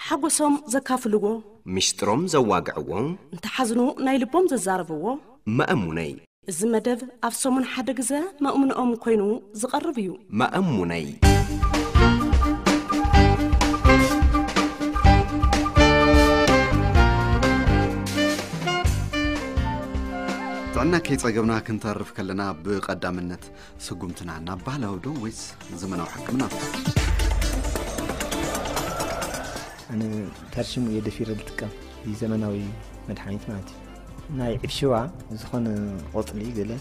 ሓጎሶም ዘካፍልዎ፣ ሚስጥሮም ዘዋግዕዎ፣ እንተሓዝኑ ናይ ልቦም ዘዛረብዎ። መእሙነይ። እዚ መደብ ኣብ ሰሙን ሓደ ግዘ መእሙንኦም ኮይኑ ዝቐርብ እዩ። መእሙነይ። ጥዕና ከይጸገብና ክንተርፍ ከለና ብቐዳምነት ስጉምትና ናብ ባህላዊ ዶ ወይስ ዘመናዊ ሕክምና? ኣነ ታርሽሙ እየ ደፊረ ዝጥቀም፣ እዚ ዘመናዊ መድሓኒት ማለት እዩ። ናይ ዒፍ ሽዋ ዝኾነ ቆፅሊ ገለ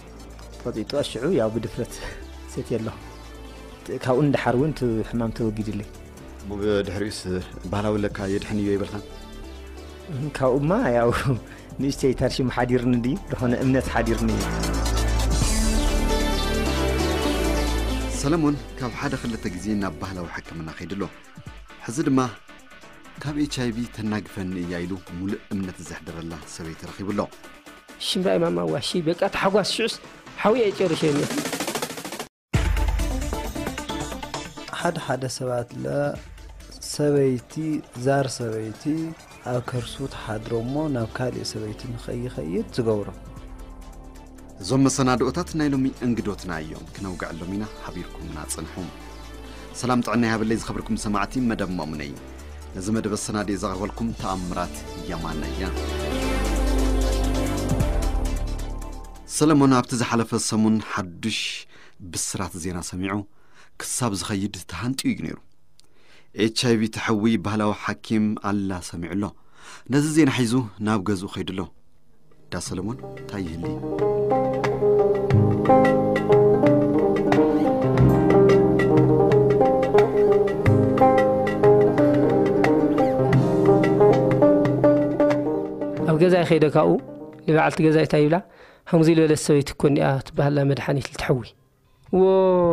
ቆጢጡ ሽዑ ያው ብድፍረት ሰትየ ኣለኹ። ካብኡ ንደሓር እውን እቲ ሕማም ተወጊድለይ። ብድሕሪኡስ ባህላዊ ለካ የድሕን እዩ ይበልካ? ካብኡማ ያው ንእሽተይ ታርሽሙ ሓዲርኒ ድዩ ዝኾነ እምነት ሓዲርኒ እዩ። ሰለሞን ካብ ሓደ ክልተ ግዜ ናብ ባህላዊ ሕክምና ከይዱ ኣሎ። ሕዚ ድማ ካብ ኤች ኣይ ቪ ተናግፈኒ እያ ኢሉ ሙሉእ እምነት ዘሕደረላ ሰበይቲ ረኺቡ ኣሎ። ሽምባይ ማማ ዋሺ በቃ ታሕጓስ ሽዑስ ሓውየ ጨርሸ እየ። ሓደ ሓደ ሰባት ለ ሰበይቲ ዛር ሰበይቲ ኣብ ከርሱ ትሓድሮ እሞ ናብ ካልእ ሰበይቲ ንኸይኸይድ ዝገብሮ። እዞም መሰናድኦታት ናይ ሎሚ እንግዶትና እዮም፣ ክነውግዐሎም ኢና። ሓቢርኩምና ጽንሑ። ሰላም ጥዕና ይሃበለይ ዝኸበርኩም ሰማዕቲ መደብ ማሙነይ። ነዚ መደብ ኣሰናድየ ዘቕርበልኩም ተኣምራት የማነ እያ። ሰለሞን ኣብቲ ዝሓለፈ ሰሙን ሓዱሽ ብስራት ዜና ሰሚዑ ክሳብ ዝኸይድ ተሃንጥዩ እዩ ነይሩ። ኤች ኣይ ቪ ተሐዊ ባህላዊ ሓኪም ኣላ ሰሚዑ ኣሎ። ነዚ ዜና ሒዙ ናብ ገዝኡ ኸይዱ ኣሎ። ዳ ሰለሞን እንታይ ይህሊ? ኣብ ገዛይ ከይደ ካብኡ ንበዓልቲ ገዛይ እንታይ ይብላ፣ ከምዚ ዝበለት ሰበይቲ እኮ እንዲኣ ትበሃላ መድሓኒት ልትሐዊ። ዎ፣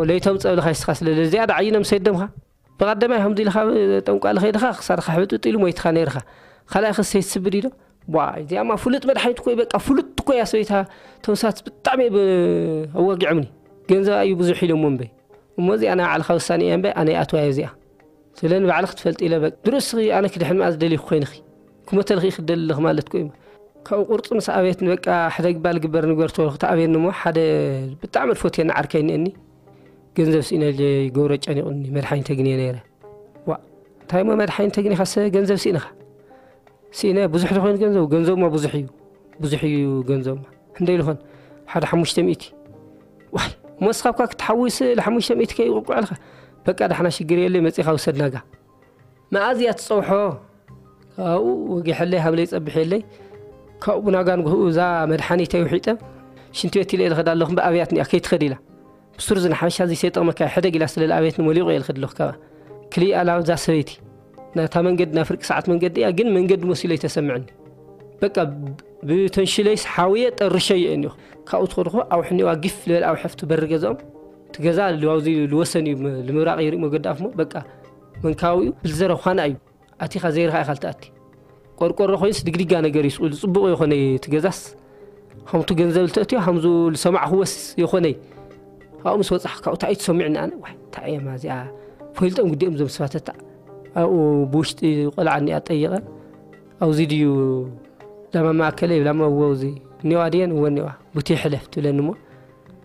ለይቶም ጸብልኻ ይስኻ ስለ እዚኣ ደዓይኖም ሰደምኻ። ብቐደማይ ከምዚ ኢልኻ ጠንቋሊ ከይድኻ ክሳድኻ ሕብጥጥ ኢሉ ሞይትኻ ነይርኻ። ካልኣይ ክሰይ ትስብድ ኢዶ? ቧ፣ እዚኣማ ፍሉጥ መድሓኒት እኮ እዩ፣ በቃ ፍሉጥ እኮ እያ ሰበይታ። ተምሳት ብጣዕሚ ብ-፣ ኣዋጊዖምኒ። ገንዘብ እዩ ብዙሕ ኢሎሞ እምበይ። እሞ እዚኣ ናይ ባዕልኻ ውሳኔ እያ እምበይ፣ ኣነ ይኣትዋ እየ እዚኣ። ስለ ንባዕልኺ ትፈልጢ ኢለ በቃ። ድሮ እስኺ ኣነ ክድሕን መኣ ዝደልዩ ኮይንኺ። ክሞተልኺ ክደሊ ኣለኺ ማለት እኮ እዩ። ካብኡ ቁርፂ ምስ ኣቤትኒ በቃ ሕደግ ባል ግበር ንግበር ተበልኩ ተኣብየኒ እሞ ሓደ ብጣዕሚ ዝፎትየኒ ዓርከይ እኒአኒ። ገንዘብ ስኢነ ገብረ ጨኒቑኒ መድሓኒት ተግንየ ነይረ። ዋ፣ እንታይ እሞ መድሓኒት ተግኒኻሰ ገንዘብ ስኢንኻ? ስኢነ ብዙሕ ተኾይኑ ገንዘቡ፣ ገንዘቡማ ብዙሕ እዩ። ብዙሕ እዩ ገንዘቡማ። ክንደይ ኢሉ ኾን? ሓደ ሓሙሽተ ሚእቲ። ዋይ፣ እሞ እስኻ እኳ ክትሓውስ ለ ሓሙሽተ ሚእቲ ከይቁቁዐልካ። በቃ ዳሕና ሽግር የለ መጺኻ ውሰድ ናጋ። መኣዝ እያ ትጸውሖ? ካብኡ ወጊሐለይ ሃብለይ ጸብሐለይ። ካብኡ ናጋ ንግህኡ እዛ መድሓኒተይ ውሒጠ ሽንቲ ቤት ኢለ ኢለ ኸዳ ኣለኹ እምበኣር ኣብያት እኒኣ ከይትኸድ ኢላ። ብሱር ዝንሓሻ እዚ ሰይጠቕመካ ሕደግ ኢላ ስለ ዝኣበየትኒ መሊቑ እየ ዝኸድ ኣለኹ ካብኣ። ክልኢኣ ላብ እዛ ሰበይቲ ናታ መንገዲ ናይ ፍርቂ ሰዓት መንገዲ እያ፣ ግን መንገዲ መሲሉ ኣይተሰምዐኒ። በቃ ብተንሽለይስ ሓውየ ጠርሸዮ እየ እኒኹ። ካብኡ ትኸድኹ ኣውሕኒዋ ጊፍ ልበል ኣብ ሕፍቲ በሪ ገዛኦም። እቲ ገዛ ልዋውዚ ልወሰን እዩ፣ ም-፣ ልምብራቕ ይርኢ መገዲ ኣፍሞ በቃ መንካዊኡ ብልዘረ ዃና እዩ። ኣቲኻ ዘይርኻ ኢኻ ልትኣቲ። ቆርቆሮ ኮይንስ ድግዲጋ ነገር እዩ ስቕ ኢሉ ጽቡቕ የኾነይ እቲ ገዛስ። ከምቱ ገንዘብ ልተእትዮ ከምዙ ልሰማዕኽዎስ የኾነይ። ካብኡ ምስ ወጻሕ ካብኡ እንታይ እዩ ተሰሚዕኒ ኣነ? ዋይ፣ እንታይ እየማ እዚኣ? ፈልጦም ግዲኦም እዞም ሰባት እታ ኣብኡ ብውሽጢ ቆልዓ እኒኣ ጠይቐ። ኣብዚ ድዩ ላማ ማእከለ ይብላ እሞ እዎ፣ እዚ እኒዋ ድየን? እወ እኒዋ። ቡቲ ሕለፍ ትብለኒ እሞ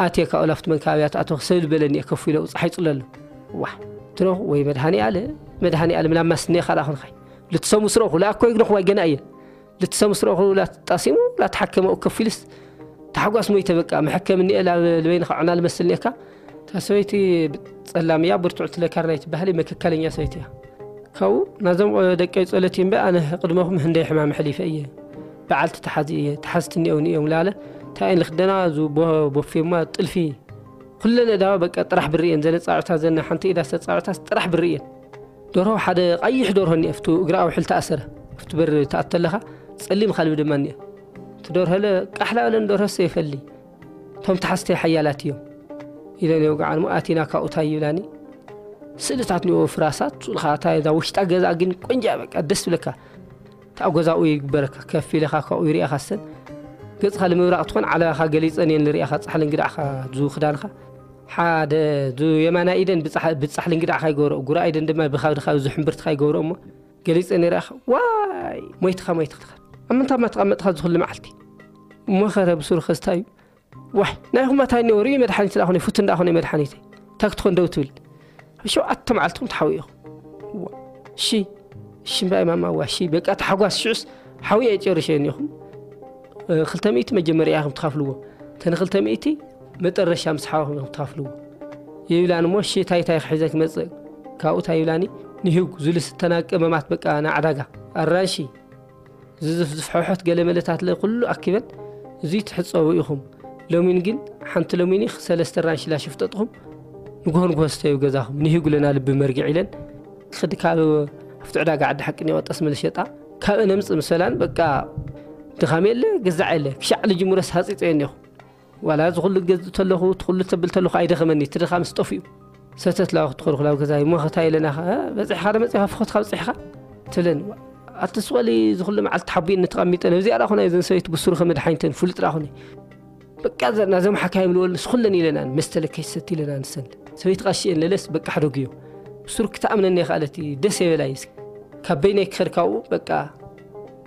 ኣትየ ካብኡ ላፍቲ መንካ ኣብያ ትኣተኹ ሰብ ዝበለኒ እየ ከፍ ኢለ ኣብኡ ጸሓይ ጽሎ ኣሎ። ዋሕ፣ ትረኹ ወይ መድሃኒ ኣለ፣ መድሃኒ ኣለ ምላማስ እኒኻ ደኣ ኾንኻይ። ልትሰሙ ስረኹ፣ ላእኮ ይግነኹ ዋይ ገና እየ። ልትሰሙ ስረኹ ላጣሲሙ፣ ላተሓከመ ከፍ ኢልስ ታሕጓስ ሞይተ በቃ፣ መሐከም እኒአ ላብ ልበይንኻ ዑና ልመስል እኒአካ። እታ ሰበይቲ ጸላም እያ፣ ብርቱዕቲ ለካርናይ ትበሃል፣ መከካለኛ ሰበይቲ እያ። ካብኡ ናዞም ደቀይ ጸሎት እምበ ኣነ ቅድመኹም ህንደይ ሕማም ኣሕሊፈ እየ። በዓልቲ ተሓዚ እየ፣ ተሓዝቲ እኒኦውኒ እዮም ላለ። እንታይ እየን ልኽደና፣ እዚ ቦ-፣ ቦፌማ ጥልፊ። ኩለን እዳዋ በቃ ጥራሕ ብሪ እየን፣ ዘነ ጻዕታ ዘነ ሓንቲ ኢዳ ዝተጻዕታስ ጥራሕ ብሪ እየን። ደርሆ ሓደ ቀይሕ ደርሆ እኒአ፣ ኣብቱ እግራ ኣውሕል ተኣሰረ። ኣብቲ በር ትኣቱ ተለኻ ጸሊም ካልቢ ድማ እኒአ። እቲ ደርሆ ለ ቃሕላ በለን ደርሆ ሰይፈሊ። እቶም ተሓዝተይ ሓያላት እዮም ኢለን የውግዓን እሞ ኣቲና ካብኡ ታይ ይብላኒ። ስእልታት እኒኦ ፍራሳት፣ ሱልኻ እታ እዛ ውሽጣ ገዛ ግን ቆንጆ እያ በቃ ደስ ትብለካ። እታ ገዛኡ ይግበረካ፣ ከፍ ኢለኻ ካብኡ ይሪኣኻ ሰን። ገጽኻ ልምብራቕ ትኾን ዓለባኻ ገሊጸን እየን ልሪኣኻ ጻሕሊ እንግዳዕኻ ዙ ክዳንኻ። ሓደ ዙ የማናይ ኢደን ብጻሕ-፣ ብጻሕሊ እንግዳዕኻ ይገብረኦ፣ ጉራ ኢደን ድማ ብኻብድኻ ዙ ሕምብርትኻ ይገብረኦ እሞ ገሊጸ ነይረ። ኣኸ ዋይ፣ ሞይትኻ፣ ሞይትኻ። ኣብ ምንታይ ማ ተቐመጥኻ ዝኹሉ መዓልቲ? እሞ ኸረ ብሱሩ ኸስታ እዩ። ዋይ፣ ናይኹም ኣታይ ነይሩ እዩ መድሓኒት ደኣ ኹነ፣ ፉት እንዳ ኹነ መድሓኒተይ። ታክትኾን ደው ትብል። ኣብ ሸውዓተ መዓልትኹም ትሓውዩ ኢኹም። ዋ፣ እሺ፣ እሺ እምበኣይ ማማ፣ ዋ፣ እሺ፣ በቃ ተሓጓስ ሽዑስ ሓውየ ጨርሸ እኒኹም። እ፣ ክልተ ሚእቲ መጀመርያ ኢኹም ትኸፍልዎ። ተን ክልተ ሚእቲ መጠረሻ ምስ ሓወኹም ኢኹም ትኸፍልዎ። ይብላን እሞ፣ እሺ፣ ታይ ታይ ክሕዘ ክመጽእ? ካብኡ ታይ ይብላኒ? ንሂጉ ዝልስተና ቀመማት በቃ ንዓዳጋ። ኣራንሺ፣ ዝዝፍዝፍ ሕሕት ገለ መለታት ለ ኩሉ ኣኪበን፣ እዙይ ትሕጸቡ ኢኹም። ሎሚን ግን ሓንቲ ሎሚኒ ሰለስተ ራንሺ ላሽፍ ጠጥኹም፣ ንግሆ ንግሆ ስተዩ ገዛኹም፣ ንሂጉ ለና ልቢ መርግዕ ኢለን፣ ክድ ካብ ኣብቲ ዕዳጋ ዓዲ ሓቂ ኔዋ ጠስሚ ልሸጣ፣ ካብ ነምጽእ ምሰላን በቃ ድኻም የለ፣ ግዛዕ የለ፣ ክሻዕ ልጅምረስ ሃጺጸ እኒኹ። ዋላ እዚ ኩሉ ገዝእ ተለኹ፣ እቲ ኩሉ ተብል ተለኹ ኣይደኸመኒ፣ እቲ ድኻም ስጠፍ እዩ። ሰተት ላኹ ትኸርኹ ላብ ገዛይ፣ እሞ ኸታ የለና ኸ፣ በጺሕኻ ዶ መጺኻ፣ ፍኾትካ በጺሕኻ? ትብለኒ። ኣቲ ስቕ በሊ፣ እዚ ኩሉ መዓልቲ ተሓቢእኒ ተቐሚጠ፣ ነብዚኣ ደኣ ኹነ፣ እዘን ሰበይቲ ብሱሩ ከመድሓኒተን ፍሉጥ ደኣ ኹነ። በቃ ዘ-፣ ናዞም ሓካይም ልበል፣ ንስኹለን ኢለናን፣ መስተ ለከ ይሰቲ ኢለናን፣ ንሰን። ሰበይቲ ቐሺ እየን ለለስ፣ በቃ ሕደግዮ። ብሱሩ ክትኣምነኒ የኽኣለቲ፣ ደስ የበላይስ። ካብ በይነይ ክኸድ ካብኡ፣ በቃ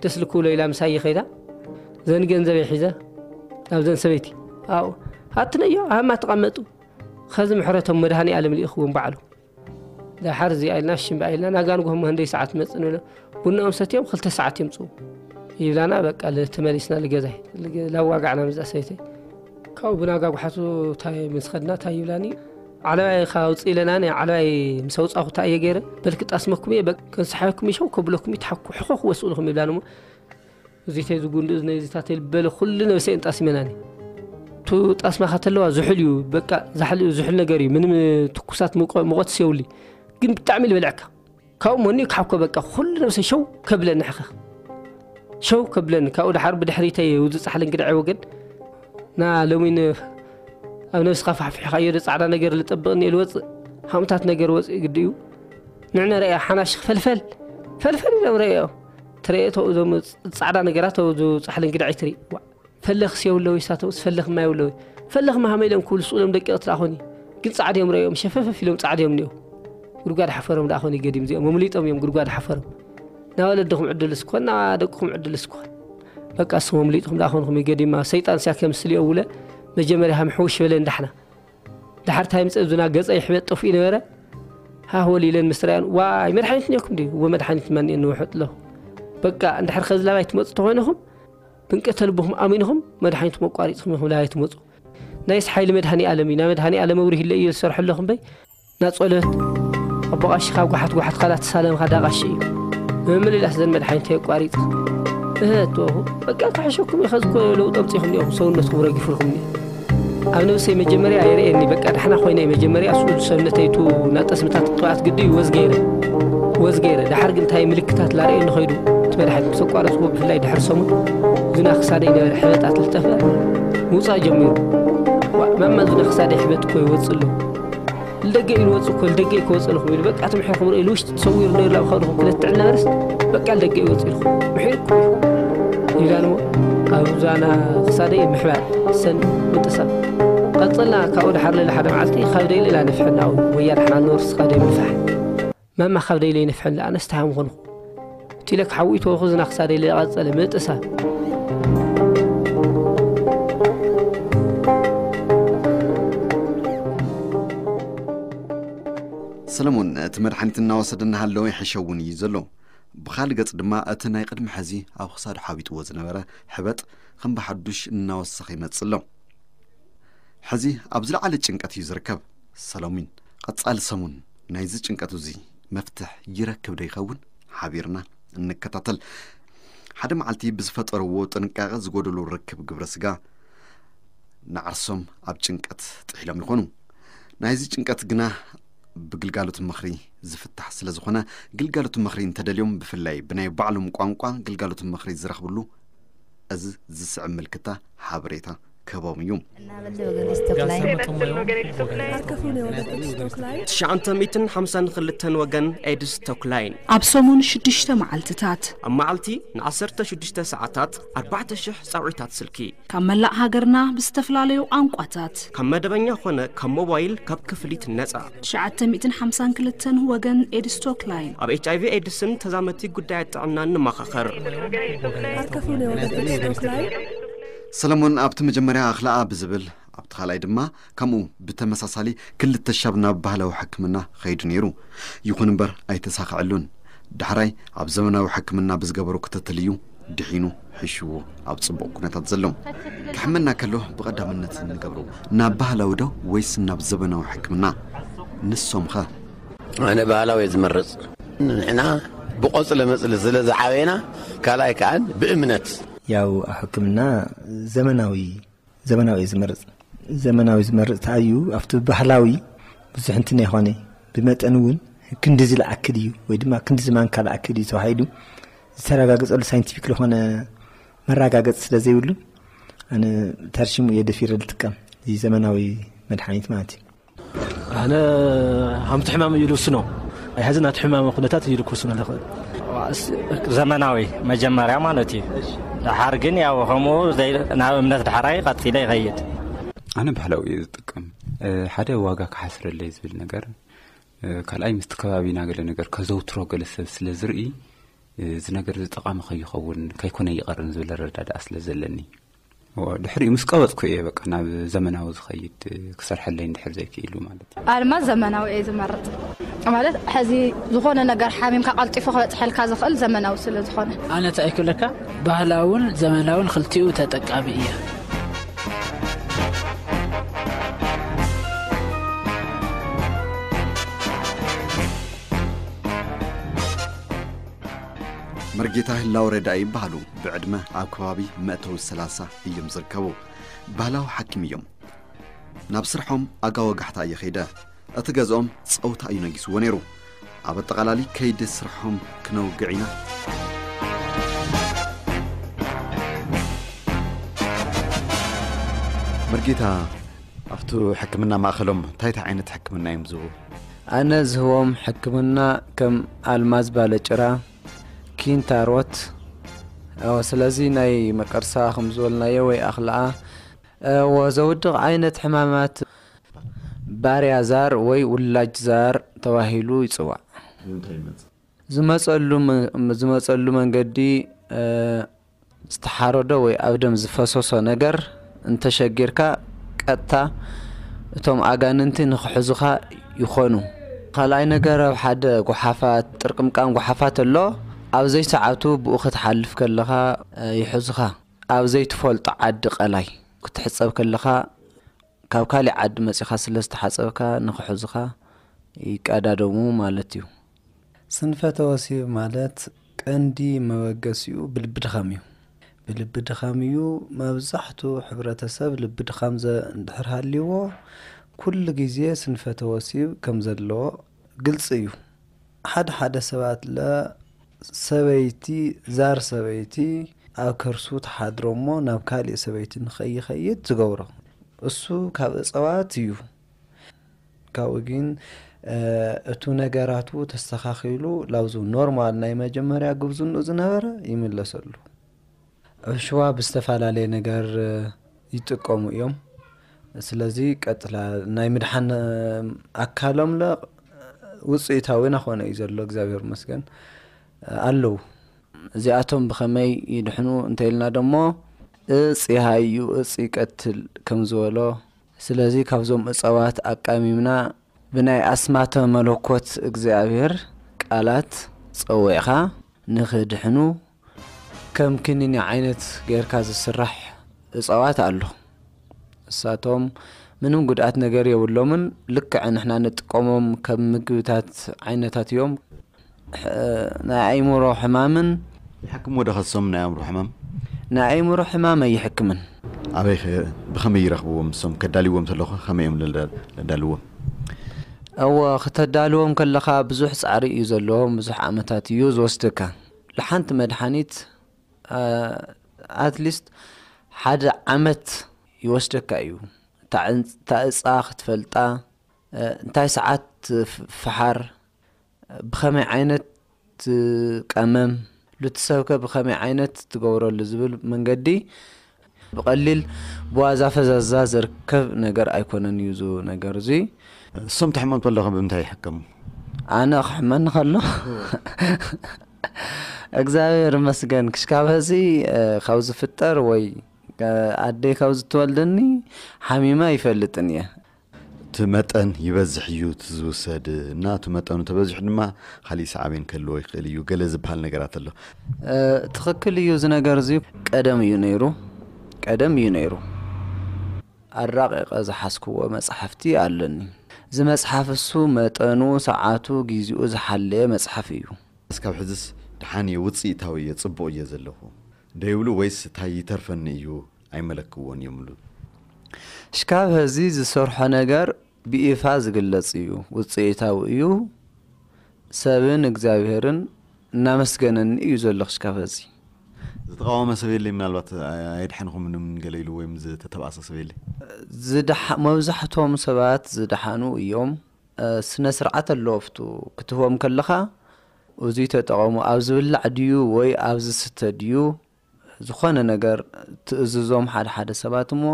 ደስ ልክብሎ ኢላ ምሳይ ይኸይዳ። ዘን ገንዘበይ ሒዘ፣ ናብዘን ሰበይቲ። ኣብኡ፣ ኣትነዮ፣ ኣብማ ተቐመጡ። ኸዚ ምሕረቶም መድሃኒ ኣለም ልኢኽዎም ባዕሉ። ደሓር እዚኣ ኢልና ሽምባ ኢልና ናጋ ንግሆ ምህንደይ ሰዓት መጽእ ንብሎ። ቡናኦም ሰትዮም ክልተ ሰዓት የምጽኡ። ይብላና በቃ ል-፣ ተመሊስና ልገዛይ። ልገ-፣ ላዋጋዕና ምዛ ሰይተይ። ካብኡ ብናጋ ጓሓቱ ታይ ምስ ኸድና ታይ ይብላኒ? ዓለባይ ኻ ውጽእ ኢለና፣ ን-፣ ዓለባይ ምስ ኣውጻኹ ታይ እየ ገይረ? በልኪ ጣስመኩም እየ፣ በ-፣ ከንስሓኩም ይሸው ከብለኩም ይትሓኩ ሕኾ ክወስኡ ኢኹም ይብላኒ እሞ። እዚተይ ዝጉንዲ እዝነይ እዚታተይ ልበለ ኩሉ ነብሰይ እንጣስመናኒ። ቱ ጣስማኻ ተለዋ ዝሑል እዩ፣ በቃ ዛሕል እዩ፣ ዝሑል ነገር እዩ። ምንም ትኩሳት ሙቀ-፣ ሙቐት የብሉይ። ግን ብጣዕሚ ልበልዐካ። ካብኡ መኒ ክሓኮ በቃ ኩሉ ነብሰይ ሸው ከብለኒ ሕኸኽ። ሸው ከብለኒ። ካብኡ ደሓር ብድሕሪተይ ውዚ ጻሕሊ እንግድዐ ወገን። ና ሎሚ ን-፣ ኣብ ነብስኻ ፋሕፊሕኻዮ ዶ ጻዕዳ ነገር ልጠብቕ እኒኤ ልወጽእ። ሃምታት ነገር ወጽእ ግዲ እዩ። ንዕነ ረእያ ሓናሽ ፈልፈል፣ ፈልፈል ኢሎም ረእዮ። ትረእዮ ተው እዞም ጻዕዳ ነገራት ተው ዙ ጻሕሊ እንግድዐ ትርኢ። ዋ፣ ፈለኽስ የብለዊ ሳተውስ ፈለኽ ማይ የብለዊ። ፈለኽ ማሃመ ኢሎም ክብሉ ስቕ ኢሎም ደቂቕ ትደኣ ኾኒ። ግን ጻዕዲ እዮም ረእዮም፣ ሸፈፈፍ ኢሎም ጻዕዲ እዮም እኒኦ። ጉድጓድ ሓፈሮም ደኣ ኾኒ ገዲም እዚኦም፣ መምሊጦም እዮም ጉድጓድ ሓፈሮም። ናብ ወለድኹም ዕድል እስኮን፣ ናብ ደቅኹም ዕድል እስኮን። በቃ እስኹም መምሊጥኹም ደኣ ኾንኹም ገዲማ፣ ሰይጣን ስያ ከምስል እዮ ውለ፣ መጀመርያ ሃም ሕውሽ በለ እንዳሕና። ድሓር እንታይ ምጸ እዙና ገጸ ይሕበጥ ጠፍኡ ነበረ። ሃህ ወል ኢለን ምስ ረኣያን፣ ዋይ መድሓኒት እኒኦኩም ድዩ? እወ መድሓኒት ማን እየ ንውሕጥ ኣለኹ። በቃ እንድሕር ኸዚ ላባይ ትመጹ ተኾይንኹም፣ ብንቀተ ልብኹም ኣሚንኹም መድሓኒትኩም ኣቋሪጽኩም ኢኹም ላባይ ትመጹ። ናይስ ሓይሊ መድሃኒ ኣለም እዩ። ናይ መድሃኒ ኣለም መብርሂ ኢለ እየ ዝሰርሖ ኣለኹ እምበይ፣ ናጸሎት ኣቦ ቐሺ ካብ ጓሓት ጓሓት ኻላ ተሳለምኻ ዳ ቐሺ እዩ። ብምምልላስ ዘን መድሓኒት ኣቋሪጽ። እህ፣ እትወኹ፣ በቃ ክሕሸኩም እዩ፣ ኸዚ እኮ ለውጢ ኣምጺኹም እኒኦም፣ ሰውነትኩም ረጊፉልኩም እኒኦ። ኣብ ነብሰይ መጀመርያ የርእየኒ፣ በቃ ዳሕና ኮይነ መጀመርያ እሱ ሰውነተይ ቱ ናጠስምታት ቅብኣት ግዲ እዩ ወዝ ገይረ። ወዝ ገይረ። ዳሓር ግን እንታይ ምልክታት ላርእየኒ ኸይዱ፣ እቲ መድሓኒት ምስ ኣቋረጽኩዎ ብፍላይ ድሕሪ ሰሙን፣ ዝና ክሳደይ ነበረ ሕበጣት ልጠፍእ ምውጻእ ጀሚሩ። ዋ፣ ማማ ዝና ክሳደይ ሕበጥ እኮ ይወጽእ ኣሎ። ልደገ ኢሉ ወጽእ እኮ፣ ልደገ እኮ ወጸልኹም ኢሉ፣ በቃ ትምሕርኩም ርእዩ፣ ልውሽጢ ተሰዊሩ ነይሩ ላብ ኸድኹም ክለት ጥዕና በርስ፣ በቃ ልደገ ይወጽእ ኢልኹም፣ ምሒርኩም ኢሉ። ይብላን እሞ፣ ኣብ ዛና ክሳደይ ምሕባጥ፣ ሰን ምጥሳም። ቀጸልና፣ ካብኡ ድሓር ልዕሊ ሓደ መዓልቲ፣ ካብ ደይ ልላ ንፍሕና፣ ወያ ድሓና ንወርስ ካብ ደይ ምንፋሕ። ማማ ካብ ደይ ለይ ንፍሕን ለኣነስ ተሃም ኾንኹ። እቲ ኢለ ክሓዊ ተወኹ ዝና ክሳደይ ልላ ቀጸለ፣ ምጥሳም። ሰለሞን፣ እቲ መድሓኒት እናወሰደ እናሃለወ ይሕሸ እውን እዩ ዘሎ። ብኻልእ ገጽ ድማ፣ እቲ ናይ ቅድሚ ሕዚ ኣብ ክሳዱ ሓቢጥዎ ዝነበረ ሕበጥ ከም ብሓዱሽ እናወሰኸ ይመጽእ ኣሎ። ሕዚ ኣብ ዝለዓለ ጭንቀት እዩ ዝርከብ። ሰለሚን፣ ቀጻሊ ሰሙን ናይዚ ጭንቀት እዚ መፍትሕ ይረክብ ዶ ይኸውን? ሓቢርና እንከታተል። ሓደ መዓልቲ ብዝፈጠርዎ ጥንቃቐ ዝጎደሎ ርክብ ግብረ ስጋ ንዓርሶም ኣብ ጭንቀት ጥሒሎም ይኾኑ። ናይዚ ጭንቀት ግና ብግልጋሎት ምኽሪ ዝፍታሕ ስለ ዝኾነ፣ ግልጋሎት ምኽሪ እንተደልዮም ብፍላይ ብናይ ባዕሎም ቋንቋ ግልጋሎት ምኽሪ ዝረኽብሉ እዚ ዝስዕብ ምልክታ ሓበሬታ ክህቦም እዩ። እናበለ ወገን ኤድስ ቶክላይን Arkefune ወገን ኤድስ ቶክላይን ትሽዓተ ሚእትን ሓምሳን ክልተን ወገን ኤድስ ቶክላይን ኣብ ሰሙን ሽዱሽተ መዓልትታት ኣብ መዓልቲ ንዓሰርተ ሽዱሽተ ሰዓታት ኣርባዕተ ሽሕ ጻውዒታት ስልኪ ካብ መላእ ሃገርና ብዝተፈላለዩ ቋንቋታት ካብ መደበኛ ኾነ ካብ ሞባይል ካብ ክፍሊት ነጻ ትሽዓተ ሚእትን ሓምሳን ክልተን ወገን ኤድስ ቶክላይን ኣብ ኤች ኣይቪ ኤድስን ተዛመቲ ጉዳያት ጥዕናን ንመኻኸር። Arkefune ወገን ኤድስ ቶክላይን ሰለሞን ኣብቲ መጀመርያ ኣኽለኣ ብዝብል ኣብቲ ካልኣይ ድማ ከምኡ ብተመሳሳሊ ክልተ ሻብ ናብ ባህላዊ ሕክምና ኸይዱ ነይሩ። ይኹን እምበር ኣይተሳኽዐሉን። ዳሕራይ ኣብ ዘመናዊ ሕክምና ብዝገበሮ ክትትል እዩ ድሒኑ ሕሽዎ ኣብ ጽቡቕ ኩነታት ዘሎ። ክሕመና ከሎ ብቐዳምነት እንገብሮ ናብ ባህላዊ ዶ ወይስ ናብ ዘመናዊ ሕክምና? ንሶም ኸ? ኣነ ባህላዊ እየ ዝመርጽ። ንሕና ብቆጽለ መጽሊ ስለ ዝዓበና ካልኣይ ከኣን ብእምነት ያው ሕክምና ዘመናዊ ዘመናዊ እየ ዝመርጽ። ዘመናዊ ዝመርጽ ተኣዩ ኣብቲ ባህላዊ ብዙሕ እንትን ኣይኾነ፣ ብመጠን እውን ክንዲ ዝለኣክል እዩ ወይ ድማ ክንዲ ዝማንካ ለኣክል እዩ ተባሂሉ ዝተረጋገጸሉ ሳይንቲፊክ ዝኾነ መረጋገጽ ስለ ዘይብሉ ኣነ ተርሽሙ እየ ደፊረ ዝጥቀም እዚ ዘመናዊ መድሓኒት ማለት እዩ። ኣነ ሃምቲ ሕማም እዩ ልውስኖ። ኣይ ሀዚ ናቲ ሕማም ኩነታት እዩ ልክውስኖ ልኽእል። ዘመናዊ መጀመርያ ማለት እዩ። ድሓር ግን ያው ከምኡ ዘይ- ናብ እምነት ድሓራይ ቀፂለ ይኸይድ። ኣነ ባህላዊ እየ ዝጥቀም። ሓደ ዋጋ ክሓስረለይ ዝብል ነገር፣ ካልኣይ ምስቲ ከባቢና ገለ ነገር ከዘውትሮ ገለ ሰብ ስለ ዝርኢ እዚ ነገር እዚ ጠቓሚ ከይኸውን ከይኮነ ይቐርን ዝብል ኣረዳድኣ ስለ ዘለኒ። ድሕሪኡ ምስ ቀበፅኩ እየ በቃ ናብ ዘመናዊ ዝኸይድ ክሰርሐለይ እንድሕር ዘይክኢሉ ማለት እዩ። ኣልማዝ ዘመናዊ እየ ዝመርፅ። ማለት ሕዚ ዝኾነ ነገር ሓሚምካ ቀልጢፉ ክበፅሐልካ ዝኽእል ዘመናዊ ስለ ዝኾነ። ኣነ እንታይ ክብለካ ባህላውን ዘመናውን ክልቲኡ ተጠቃሚ እየ። መርጌታ ህላው ረዳኢ ይበሃሉ። ብዕድመ ኣብ ከባቢ መእተዊ ሰላሳ እዮም ዝርከቡ። ባህላዊ ሓኪም እዮም። ናብ ስርሖም ኣጋ ወጋሕታ እየ ኸይደ። እቲ ገዝኦም ጸውታ እዩ ነጊስዎ ነይሩ። ኣብ ኣጠቓላሊ ከይዲ ስርሖም ክነውግዕ ኢና። መርጌታ ኣብቲ ሕክምና ማእኸሎም እንታይ እንታይ ዓይነት ሕክምና እዮም ዝህቡ? ኣነ ዝህቦም ሕክምና ከም ኣልማዝ ባለጭራ፣ ኪንታሮት፣ እወ፣ ስለዚ ናይ መቀርሳ ከም ዝበልናዮ ወይ ኣኽልኣ፣ እወ፣ ዘውድቕ ዓይነት ሕማማት ባርያ ዛር ወይ ውላጅ ዛር ተባሂሉ ይጽዋዕ። ዝመጸሉ መ- ዝመጸሉ መንገዲ ዝተሓረዶ ወይ ኣብ ደም ዝፈሰሶ ነገር እንተሸጊርካ ቀጥታ እቶም ኣጋንንቲ ንክሕዙኻ ይኾኑ። ካልኣይ ነገር ኣብ ሓደ ጎሓፋት ጥርቅምቃም ጎሓፋት ኣሎ ኣብ ዘይሰዓቱ ብኡ ክትሓልፍ ከለኻ ይሕዙኻ። ኣብ ዘይትፈልጦ ዓዲ ቀላይ ክትሕጸብ ከለኻ ካብ ካሊእ ዓዲ መጺኻ ስለ ዝተሓጸብካ ንክሕዙኻ ይቀዳደሙ ማለት እዩ። ስንፈተ ወሲብ ማለት ቀንዲ መበገሲኡ ብልቢ ድኻም እዩ። ብልቢ ድኻም እዩ። መብዛሕቱ ሕብረተሰብ ልቢ ድኻም ዘ- እንድሕር ሃልይዎ ኩሉ ግዜ ስንፈተ ወሲብ ከም ዘለዎ ግልፂ እዩ። ሓደ ሓደ ሰባት ለ ሰበይቲ ዛር ሰበይቲ ኣብ ከርሱ ትሓድሮ እሞ ናብ ካሊእ ሰበይቲ ንኸይኸይድ ዝገብሮ እሱ ካብ እፀዋት እዩ። ካብኡ ግን እቱ ነገራቱ ተስተኻኺሉ ላብዙ ኖርማል ናይ መጀመርያ ጉብዝንኡ ዝነበረ ይምለሰሉ። ዕሽዋ ብዝተፈላለየ ነገር ይጥቀሙ እዮም። ስለዚ ቀጥላ ናይ ምድሓን ኣካሎም ለ ውፅኢታዊ ናኾነ እዩ ዘሎ እግዚኣብሔር መስገን ኣለዉ። እዚኣቶም ብኸመይ ይድሕኑ እንተኢልና ደሞ እፅ ይሃዩ እፅ ይቀትል ከም ዝበሎ ስለዚ ካብዞም እፀዋት ኣቃሚምና ብናይ ኣስማተ መለኮት እግዚኣብሔር ቃላት ጸዊዕኻ ንኽድሕኑ ከም ክኒኒ ዓይነት ጌርካ ዝስራሕ እፀዋት ኣሎ። እሳቶም ምንም ጉድኣት ነገር የብሎምን። ልክዕ ንሕና ንጥቀሞም ከም ምግብታት ዓይነታት እዮም። ናይ ኣእምሮ ሕማምን ይሕክምዎ ዶ ከሶም ናይ ኣእምሮ ሕማም? ናይ ኣእምሮ ሕማም ኣይሕክምን። ኣበይ ኸ ብኸመይ ይረኽብዎም እሶም ከዳልዎም ተለኹ ከመይ እዮም ለዳልዎም? እወ ክተዳልዎም ከለኻ ብዙሕ ፃዕሪ እዩ ዘለዎም ብዙሕ ዓመታት እዩ ዝወስደካ። ለሓንቲ መድሓኒት ኣትሊስት ሓደ ዓመት ይወስደካ እዩ። እታ ዕንጽ-፣ እታ እጻ ክትፈልጣ፣ እ፣ እንታይ ሰዓት ፍ-፣ ፍሓር፣ ብኸመይ ዓይነት ቀመም፣ ሉቲ ሰብከ ብኸመይ ዓይነት ትገብረሉ ዝብል መንገዲ ብቐሊል ብዋዛ ፈዛዛ ዝርከብ ነገር ኣይኮነን እዩ እዚ ነገር እዚ። እሶም ትሕመም ተለኹ ብምንታይ ይሕከሙ? ኣነ ክሕመኒ ከሎ እግዚኣብሔር ይመስገን ክሽካብ ህዚ፣ እ፣ ካብ ዝፍጠር ወይ፣ እ፣ ኣደይ ካብ ዝትወልደኒ ሓሚመ ኣይፈልጥን እየ። እቲ መጠን ይበዝሕ እዩ እቲ ዝውሰድ እና እቲ መጠኑ ተበዚሑ ድማ ካሊእ ሳዕቤን ክህልዎ ይኽእል እዩ ገለ ዝበሃል ነገራት ኣሎ። እ፣ ትኽክል እዩ እዚ ነገር እዚ። ቀደም እዩ ነይሩ፣ ቀደም እዩ ነይሩ። ኣራቂቐ ዝሓዝክዎ መጽሓፍቲ ኣለኒ። እዚ መጽሓፍ እሱ መጠኑ፣ ሰዓቱ፣ ጊዜኡ ዝሓለየ መጽሓፍ እዩ። እስካብ ሕዝስ ደሓን እየ፣ ውፅኢታዊ እየ፣ ፅቡቕ እየ ዘለኹ ደይብሉ ወይስ እታይ ይተርፈኒ እዩ ኣይመለክዎን እዮም ሉ? ሽካብ ሀዚ ዝሰርሖ ነገር ብይፋ ዝግለጽ እዩ፣ ውፅኢታዊ እዩ፣ ሰብን እግዚኣብሄርን እናመስገነኒ እዩ ዘሎ ክሽካብ ሀዚ። ዝተቃወመ ሰብ የለይ? ምናልባት ኣየድሐንኹምን ገለ ኢሉ ወይም ዝተተባእሰ ሰብ የለይ? ዝደሓ-፣ መብዛሕትኦም ሰባት ዝደሓኑ እዮም። እ፣ ስነ ስርዓት ኣሎ ኣብቱ ክትህቦም ከለኻ፣ እዙይ ተጠቐሙ፣ ኣብ ዝብላዕ ድዩ ወይ ኣብ ዝስተ ድዩ፣ ዝኾነ ነገር ትእዝዞም ሓደ ሓደ ሰባት እሞ፣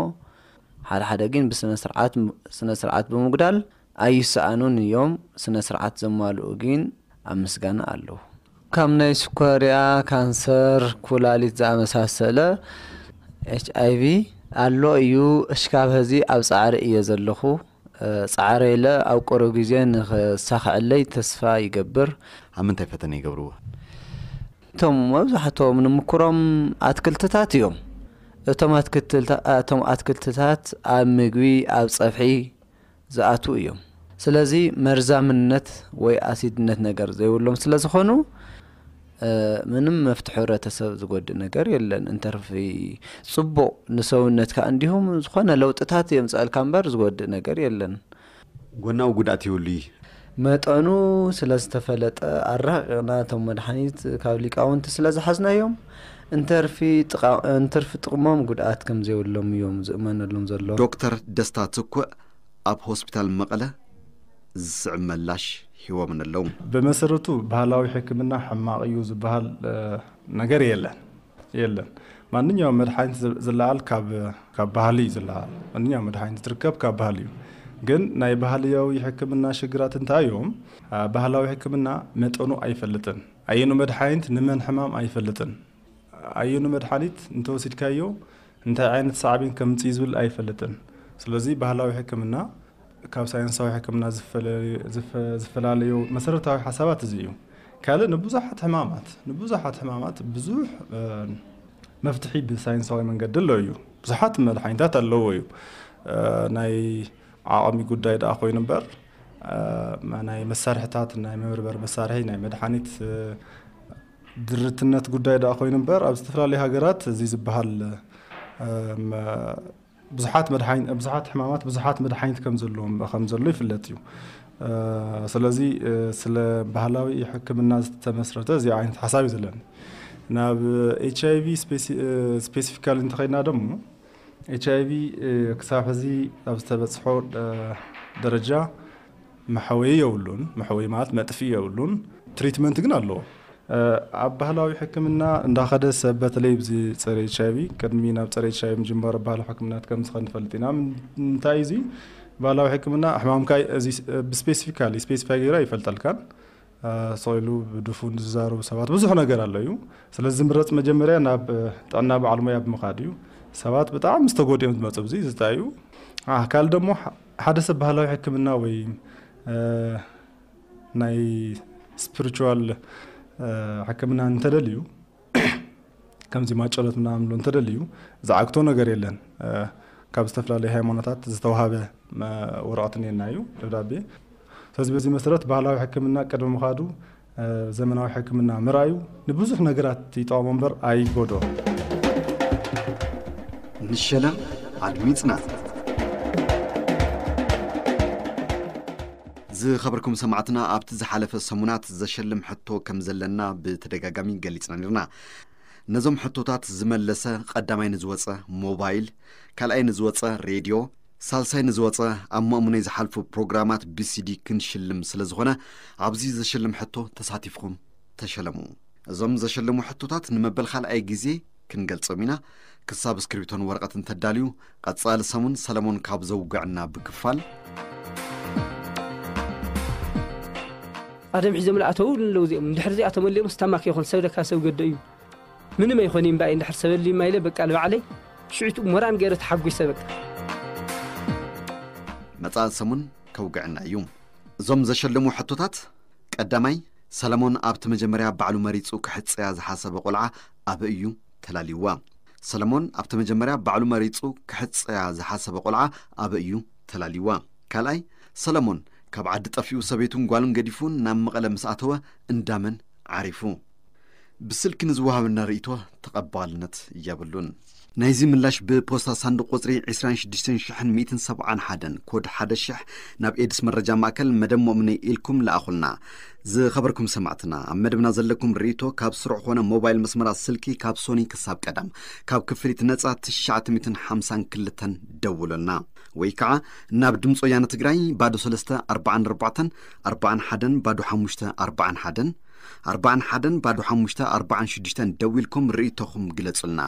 ሓደ ሓደ ግን ብስነ ስርዓት፣ ስነ ስርዓት ብምጉዳል ኣይሰኣኑን እዮም። ስነ ስርዓት ዘማልኡ ግን ኣብ ምስጋና ኣለዉ። ካብ ናይ ስኳርያ፣ ካንሰር፣ ኩላሊት ዝኣመሳሰለ ኤች ኣይ ቪ ኣሎ እዩ። እሽካብ ሀዚ ኣብ ጻዕሪ እየ ዘለኹ። እ፣ ጻዕረ ኢለ ኣብ ቁሩብ ግዜ ንኽሳኽዐለይ ተስፋ ይገብር። ኣብ ምንታይ ፈተነ ይገብርዎ? እቶም መብዛሕትኦም ንምክሮም ኣትክልትታት እዮም። እቶም ኣትክልትታ-፣ እቶም ኣትክልትታት ኣብ ምግቢ፣ ኣብ ጸብሒ ዝኣትዉ እዮም። ስለዚ መርዛምነት ወይ ኣሲድነት ነገር ዘይብሎም ስለ ዝኾኑ፣ እ፣ ምንም መፍትሒ ሕብረተሰብ ዝጎድእ ነገር የለን። እንተርፊ ጽቡቕ ንሰውነትካ እንዲሁም ዝኾነ ለውጥታት የምጽኣልካ እምበር ዝጎድእ ነገር የለን። ጎናዊ ጉድኣት የብሉ እዩ። መጠኑ ስለ ዝተፈለጠ ኣራቂቕና እቶም መድሓኒት ካብ ሊቃውንቲ ስለ ዝሓዝናዮም፣ እንተርፊ ጥቓ-፣ እንትርፊ ጥቕሞም ጉድኣት ከም ዘይብሎም እዮም ዝእመነሎም ዘሎ። ዶክተር ደስታ ትኩእ ኣብ ሆስፒታል መቐለ ዝስዕብ መላሽ ሂቦምኒ ኣለዉ። ብመሰረቱ ባህላዊ ሕክምና ሕማቕ እዩ ዝበሃል፣ እ፣ ነገር የለን፣ የለን። ማንኛውም መድሓኒት ዝ-፣ ዝለዓል ካብ፣ ካብ ባህሊ እዩ ዝለዓል። ማንኛውም መድሓኒት ዝርከብ ካብ ባህሊ እዩ። ግን ናይ ባህልያዊ ሕክምና ሽግራት እንታይ እዮም? አ፣ ባህላዊ ሕክምና መጠኑ ኣይፈልጥን። ኣየኑ መድሓኒት ንመን ሕማም ኣይፈልጥን። ኣየኑ መድሓኒት እንተወሲድካዮ እንታይ ዓይነት ሳዕቤን ከምጽእ ዝብል ኣይፈልጥን። ስለዚ ባህላዊ ሕክምና ካብ ሳይንሳዊ ሕክምና ዝፈለ-፣ ዝፈ-፣ ዝፈላለዮ መሰረታዊ ሓሳባት እዚ እዩ። ካልእ ንብዙሓት ሕማማት፣ ንብዙሓት ሕማማት ብዙሕ፣ እ፣ መፍትሒ ብሳይንሳዊ መንገዲ ኣሎ እዩ። ብዙሓት መድሓኒታት ኣለዎ እዩ። እ፣ ናይ ዓቕሚ ጉዳይ ደኣ ኮይኑ እምበር፣ እ፣ መ-፣ ናይ መሳርሕታት፣ ናይ መበርበር መሳርሒ፣ ናይ መድሓኒት፣ እ፣ ድርትነት ጉዳይ ደኣ ኮይኑ እምበር፣ ኣብ ዝተፈላለዩ ሃገራት እዚ ዝበሃል፣ እ፣ መ-፣ ብዙሓት መድሓኒ-፣ ብዙሓት ሕማማት ብዙሓት መድሓኒት ከም ዘለዎም፣ ከም ዘሎ ይፍለጥ እዩ። እ፣ ስለዚ፣ እ፣ ስለ ባህላዊ ሕክምና ዝተመስረተ እዚ ዓይነት ሓሳብ እዩ ዘለኒ። ናብ ኤች ኣይ ቪ ስፔሲ-፣ እ፣ ስፔሲፊካሊ እንተኸይድና ደሞ፣ ኤች ኣይ ቪ፣ እ፣ ክሳብ ሕዚ ኣብ ዝተበጽሖ፣ እ፣ ደረጃ መሐወዪ የብሉን። መሐወዪ ማለት መጥፍኢ የብሉን። ትሪትመንት ግን ኣለዎ። እ፣ ኣብ ባህላዊ ሕክምና እንዳኸደ ሰብ፣ በተለይ ብዚ ጸረ ኤች ኣይ ቪ፣ ቅድሚ ናብ ጸረ ኤች ኣይ ቪ ምጅማሩ ባህላዊ ሕክምናት ከም ዝኸን ንፈልጥ ኢና። ም-፣ እንታይ እዚ ባህላዊ ሕክምና ሕማምካ እዚ ስ-፣ ብስፔሲፊካሊ፣ ስፔሲፋይ ገይሩ ኣይፈልጠልካን። እ፣ ስቕ ኢሉ ብድፉን ዝዛረቡ ሰባት ብዙሕ ነገር ኣሎ እዩ። ስለዚ ዝምረጽ መጀመርያ ናብ፣ እ፣ ጥዕና በዓል ሞያ ብምኻድ እዩ። ሰባት ብጣዕሚ ዝተጎድኦም ዝመጹ ብዚ ዝታይ እዩ። አ፣ ካልእ ደሞ ሐ-፣ ሓደ ሰብ ባህላዊ ሕክምና ወይ፣ እ፣ ናይ ስፒሪቹዋል፣ እ፣ ሕክምና እንተደልዩ፣ ከምዚ ማጨሎት ምናምን ብሎ እንተደልዩ ዝዓግቶ ነገር የለን። እ፣ ካብ ዝተፈላለዩ ሃይማኖታት ዝተዋሃበ መ-፣ ወረቐት እኒአና እዩ፣ ደብዳቤ። ስለዚ በዚ መሰረት ባህላዊ ሕክምና ቅድሚ ምኻዱ፣ እ፣ ዘመናዊ ሕክምና ምርኣዩ ንብዙሕ ነገራት ይጠቕሞ እምበር ኣይጎድኦ። ንሸለም ኣድሚጽና። ዝኸበርኩም ሰማዕትና፣ ኣብቲ ዝሓለፈ ሰሙናት ዘሸልም ሕቶ ከም ዘለና ብተደጋጋሚ ገሊጽና ነርና። ነዞም ሕቶታት ዝመለሰ ቀዳማይ ንዝወጸ ሞባይል፣ ካልኣይ ንዝወጸ ሬድዮ፣ ሳልሳይ ንዝወጸ ኣብ ማእሙነይ ዝሓልፉ ፕሮግራማት ብሲዲ ክንሽልም ስለ ዝኾነ፣ ኣብዚ ዘሸልም ሕቶ ተሳቲፍኩም ተሸለሙ። እዞም ዘሸልሙ ሕቶታት ንመበል ካልኣይ ግዜ ክንገልጾም ኢና። ክሳብ እስክሪብቶን ወረቐትን ተዳልዩ፣ ቀጻሊ ሰሙን ሰለሞን ካብ ዘውግዕና ብክፋል። ኣደም ሒዞም ለኣተው ኣለዉ። እዚኦም እንድሕር እዚኣ ተመሊኦም ስታማክ ይኹን ሰብ ደካ ሰብ ገደ እዩ። ምንም ኣይኾን እምባይ እንድሕር ሰበሊ ማይለ በቃ ልባዕለይ ሽዑት ሞራን ገይረ ተሓጒሰ በቃ። መጻኢ ሰሙን ከውግዕና እዩ። እዞም ዘሸልሙ ሕቶታት፣ ቀዳማይ፣ ሰለሞን ኣብቲ መጀመርያ ባዕሉ መሪጹ ክሕጸያ ዝሓሰበ ቆልዓ ኣበይ እዩ ተላልይዋ? ሰለሞን ኣብቲ መጀመርያ ባዕሉ መሪጹ ክሕጸያ ዝሓሰበ ቆልዓ ኣበይ እዩ ተላልይዋ? ካልኣይ፣ ሰለሞን ካብ ዓዲ ጠፊኡ ሰበይቱን ጓሉን ገዲፉ ናብ መቐለ ምስ ኣተወ እንዳመን ዓሪፉ? ብስልኪ ንዝወሃበና ርእይቶ ተቐባልነት የብሉን። ናይዚ ምላሽ ብፖስታ ሳንዱቕ ቁጽሪ ዕስራን ሽዱሽተን ሽሕን ሚእትን ሰብዓን ሓደን ኮድ ሓደ ሽሕ ናብ ኤድስ መረጃ ማእከል መደብ ሞእምነይ ኢልኩም ለኣኹልና። ዝኸበርኩም ሰማዕትና፣ ኣብ መደብና ዘለኩም ርእይቶ ካብ ስሩዕ ኮነ ሞባይል መስመራት ስልኪ ካብ ሶኒ ክሳብ ቀዳም ካብ ክፍሊት ነጻ ትሽዓተ ሚእትን ሓምሳን ክልተን ደውሉልና። ወይ ከዓ ናብ ድምፂ ወያነ ትግራይ ባዶ ሰለስተ ኣርባዓን ኣርባዕተን ኣርባዓን ሓደን ባዶ ሓሙሽተ ኣርባዓን ሓደን ኣርባዓን ሓደን ባዶ ሓሙሽተ ኣርባዓን ሽዱሽተን ደዊልኩም ርእይቶኹም ግለጹልና።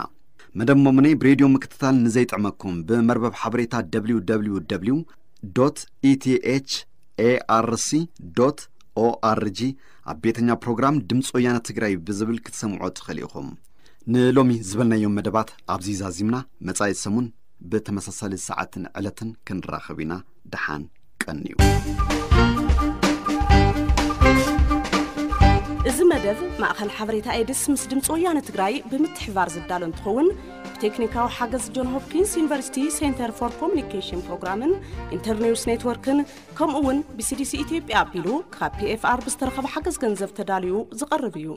መደብ ሞምነይ ብሬድዮ ምክትታል ንዘይጥዕመኩም ብመርበብ ሓበሬታ www ኢቲኤች ኤኣርሲ ኦርጂ ኣብ ቤተኛ ፕሮግራም ድምፂ ወያነ ትግራይ ብዝብል ክትሰምዖ ትኽእል ኢኹም። ንሎሚ ዝበልናዮም መደባት ኣብዚ ዛዚምና፣ መጻኢ ሰሙን ብተመሳሳሊ ሰዓትን ዕለትን ክንራኸብ ኢና። ደሓን ቀንዩ። እዚ መደብ ማእኸል ሓበሬታ ኤድስ ምስ ድምፂ ወያነ ትግራይ ብምትሕባር ዝዳሎ እንትኸውን፣ ብቴክኒካዊ ሓገዝ ጆን ሆፕኪንስ ዩኒቨርሲቲ ሴንተር ፎር ኮሚኒኬሽን ፕሮግራምን ኢንተርኒውስ ኔትወርክን ከምኡ እውን ብሲዲሲ ኢትዮጵያ ኣቢሉ ካብ ፒኤፍኣር ብዝተረኸበ ሓገዝ ገንዘብ ተዳልዩ ዝቐርብ እዩ።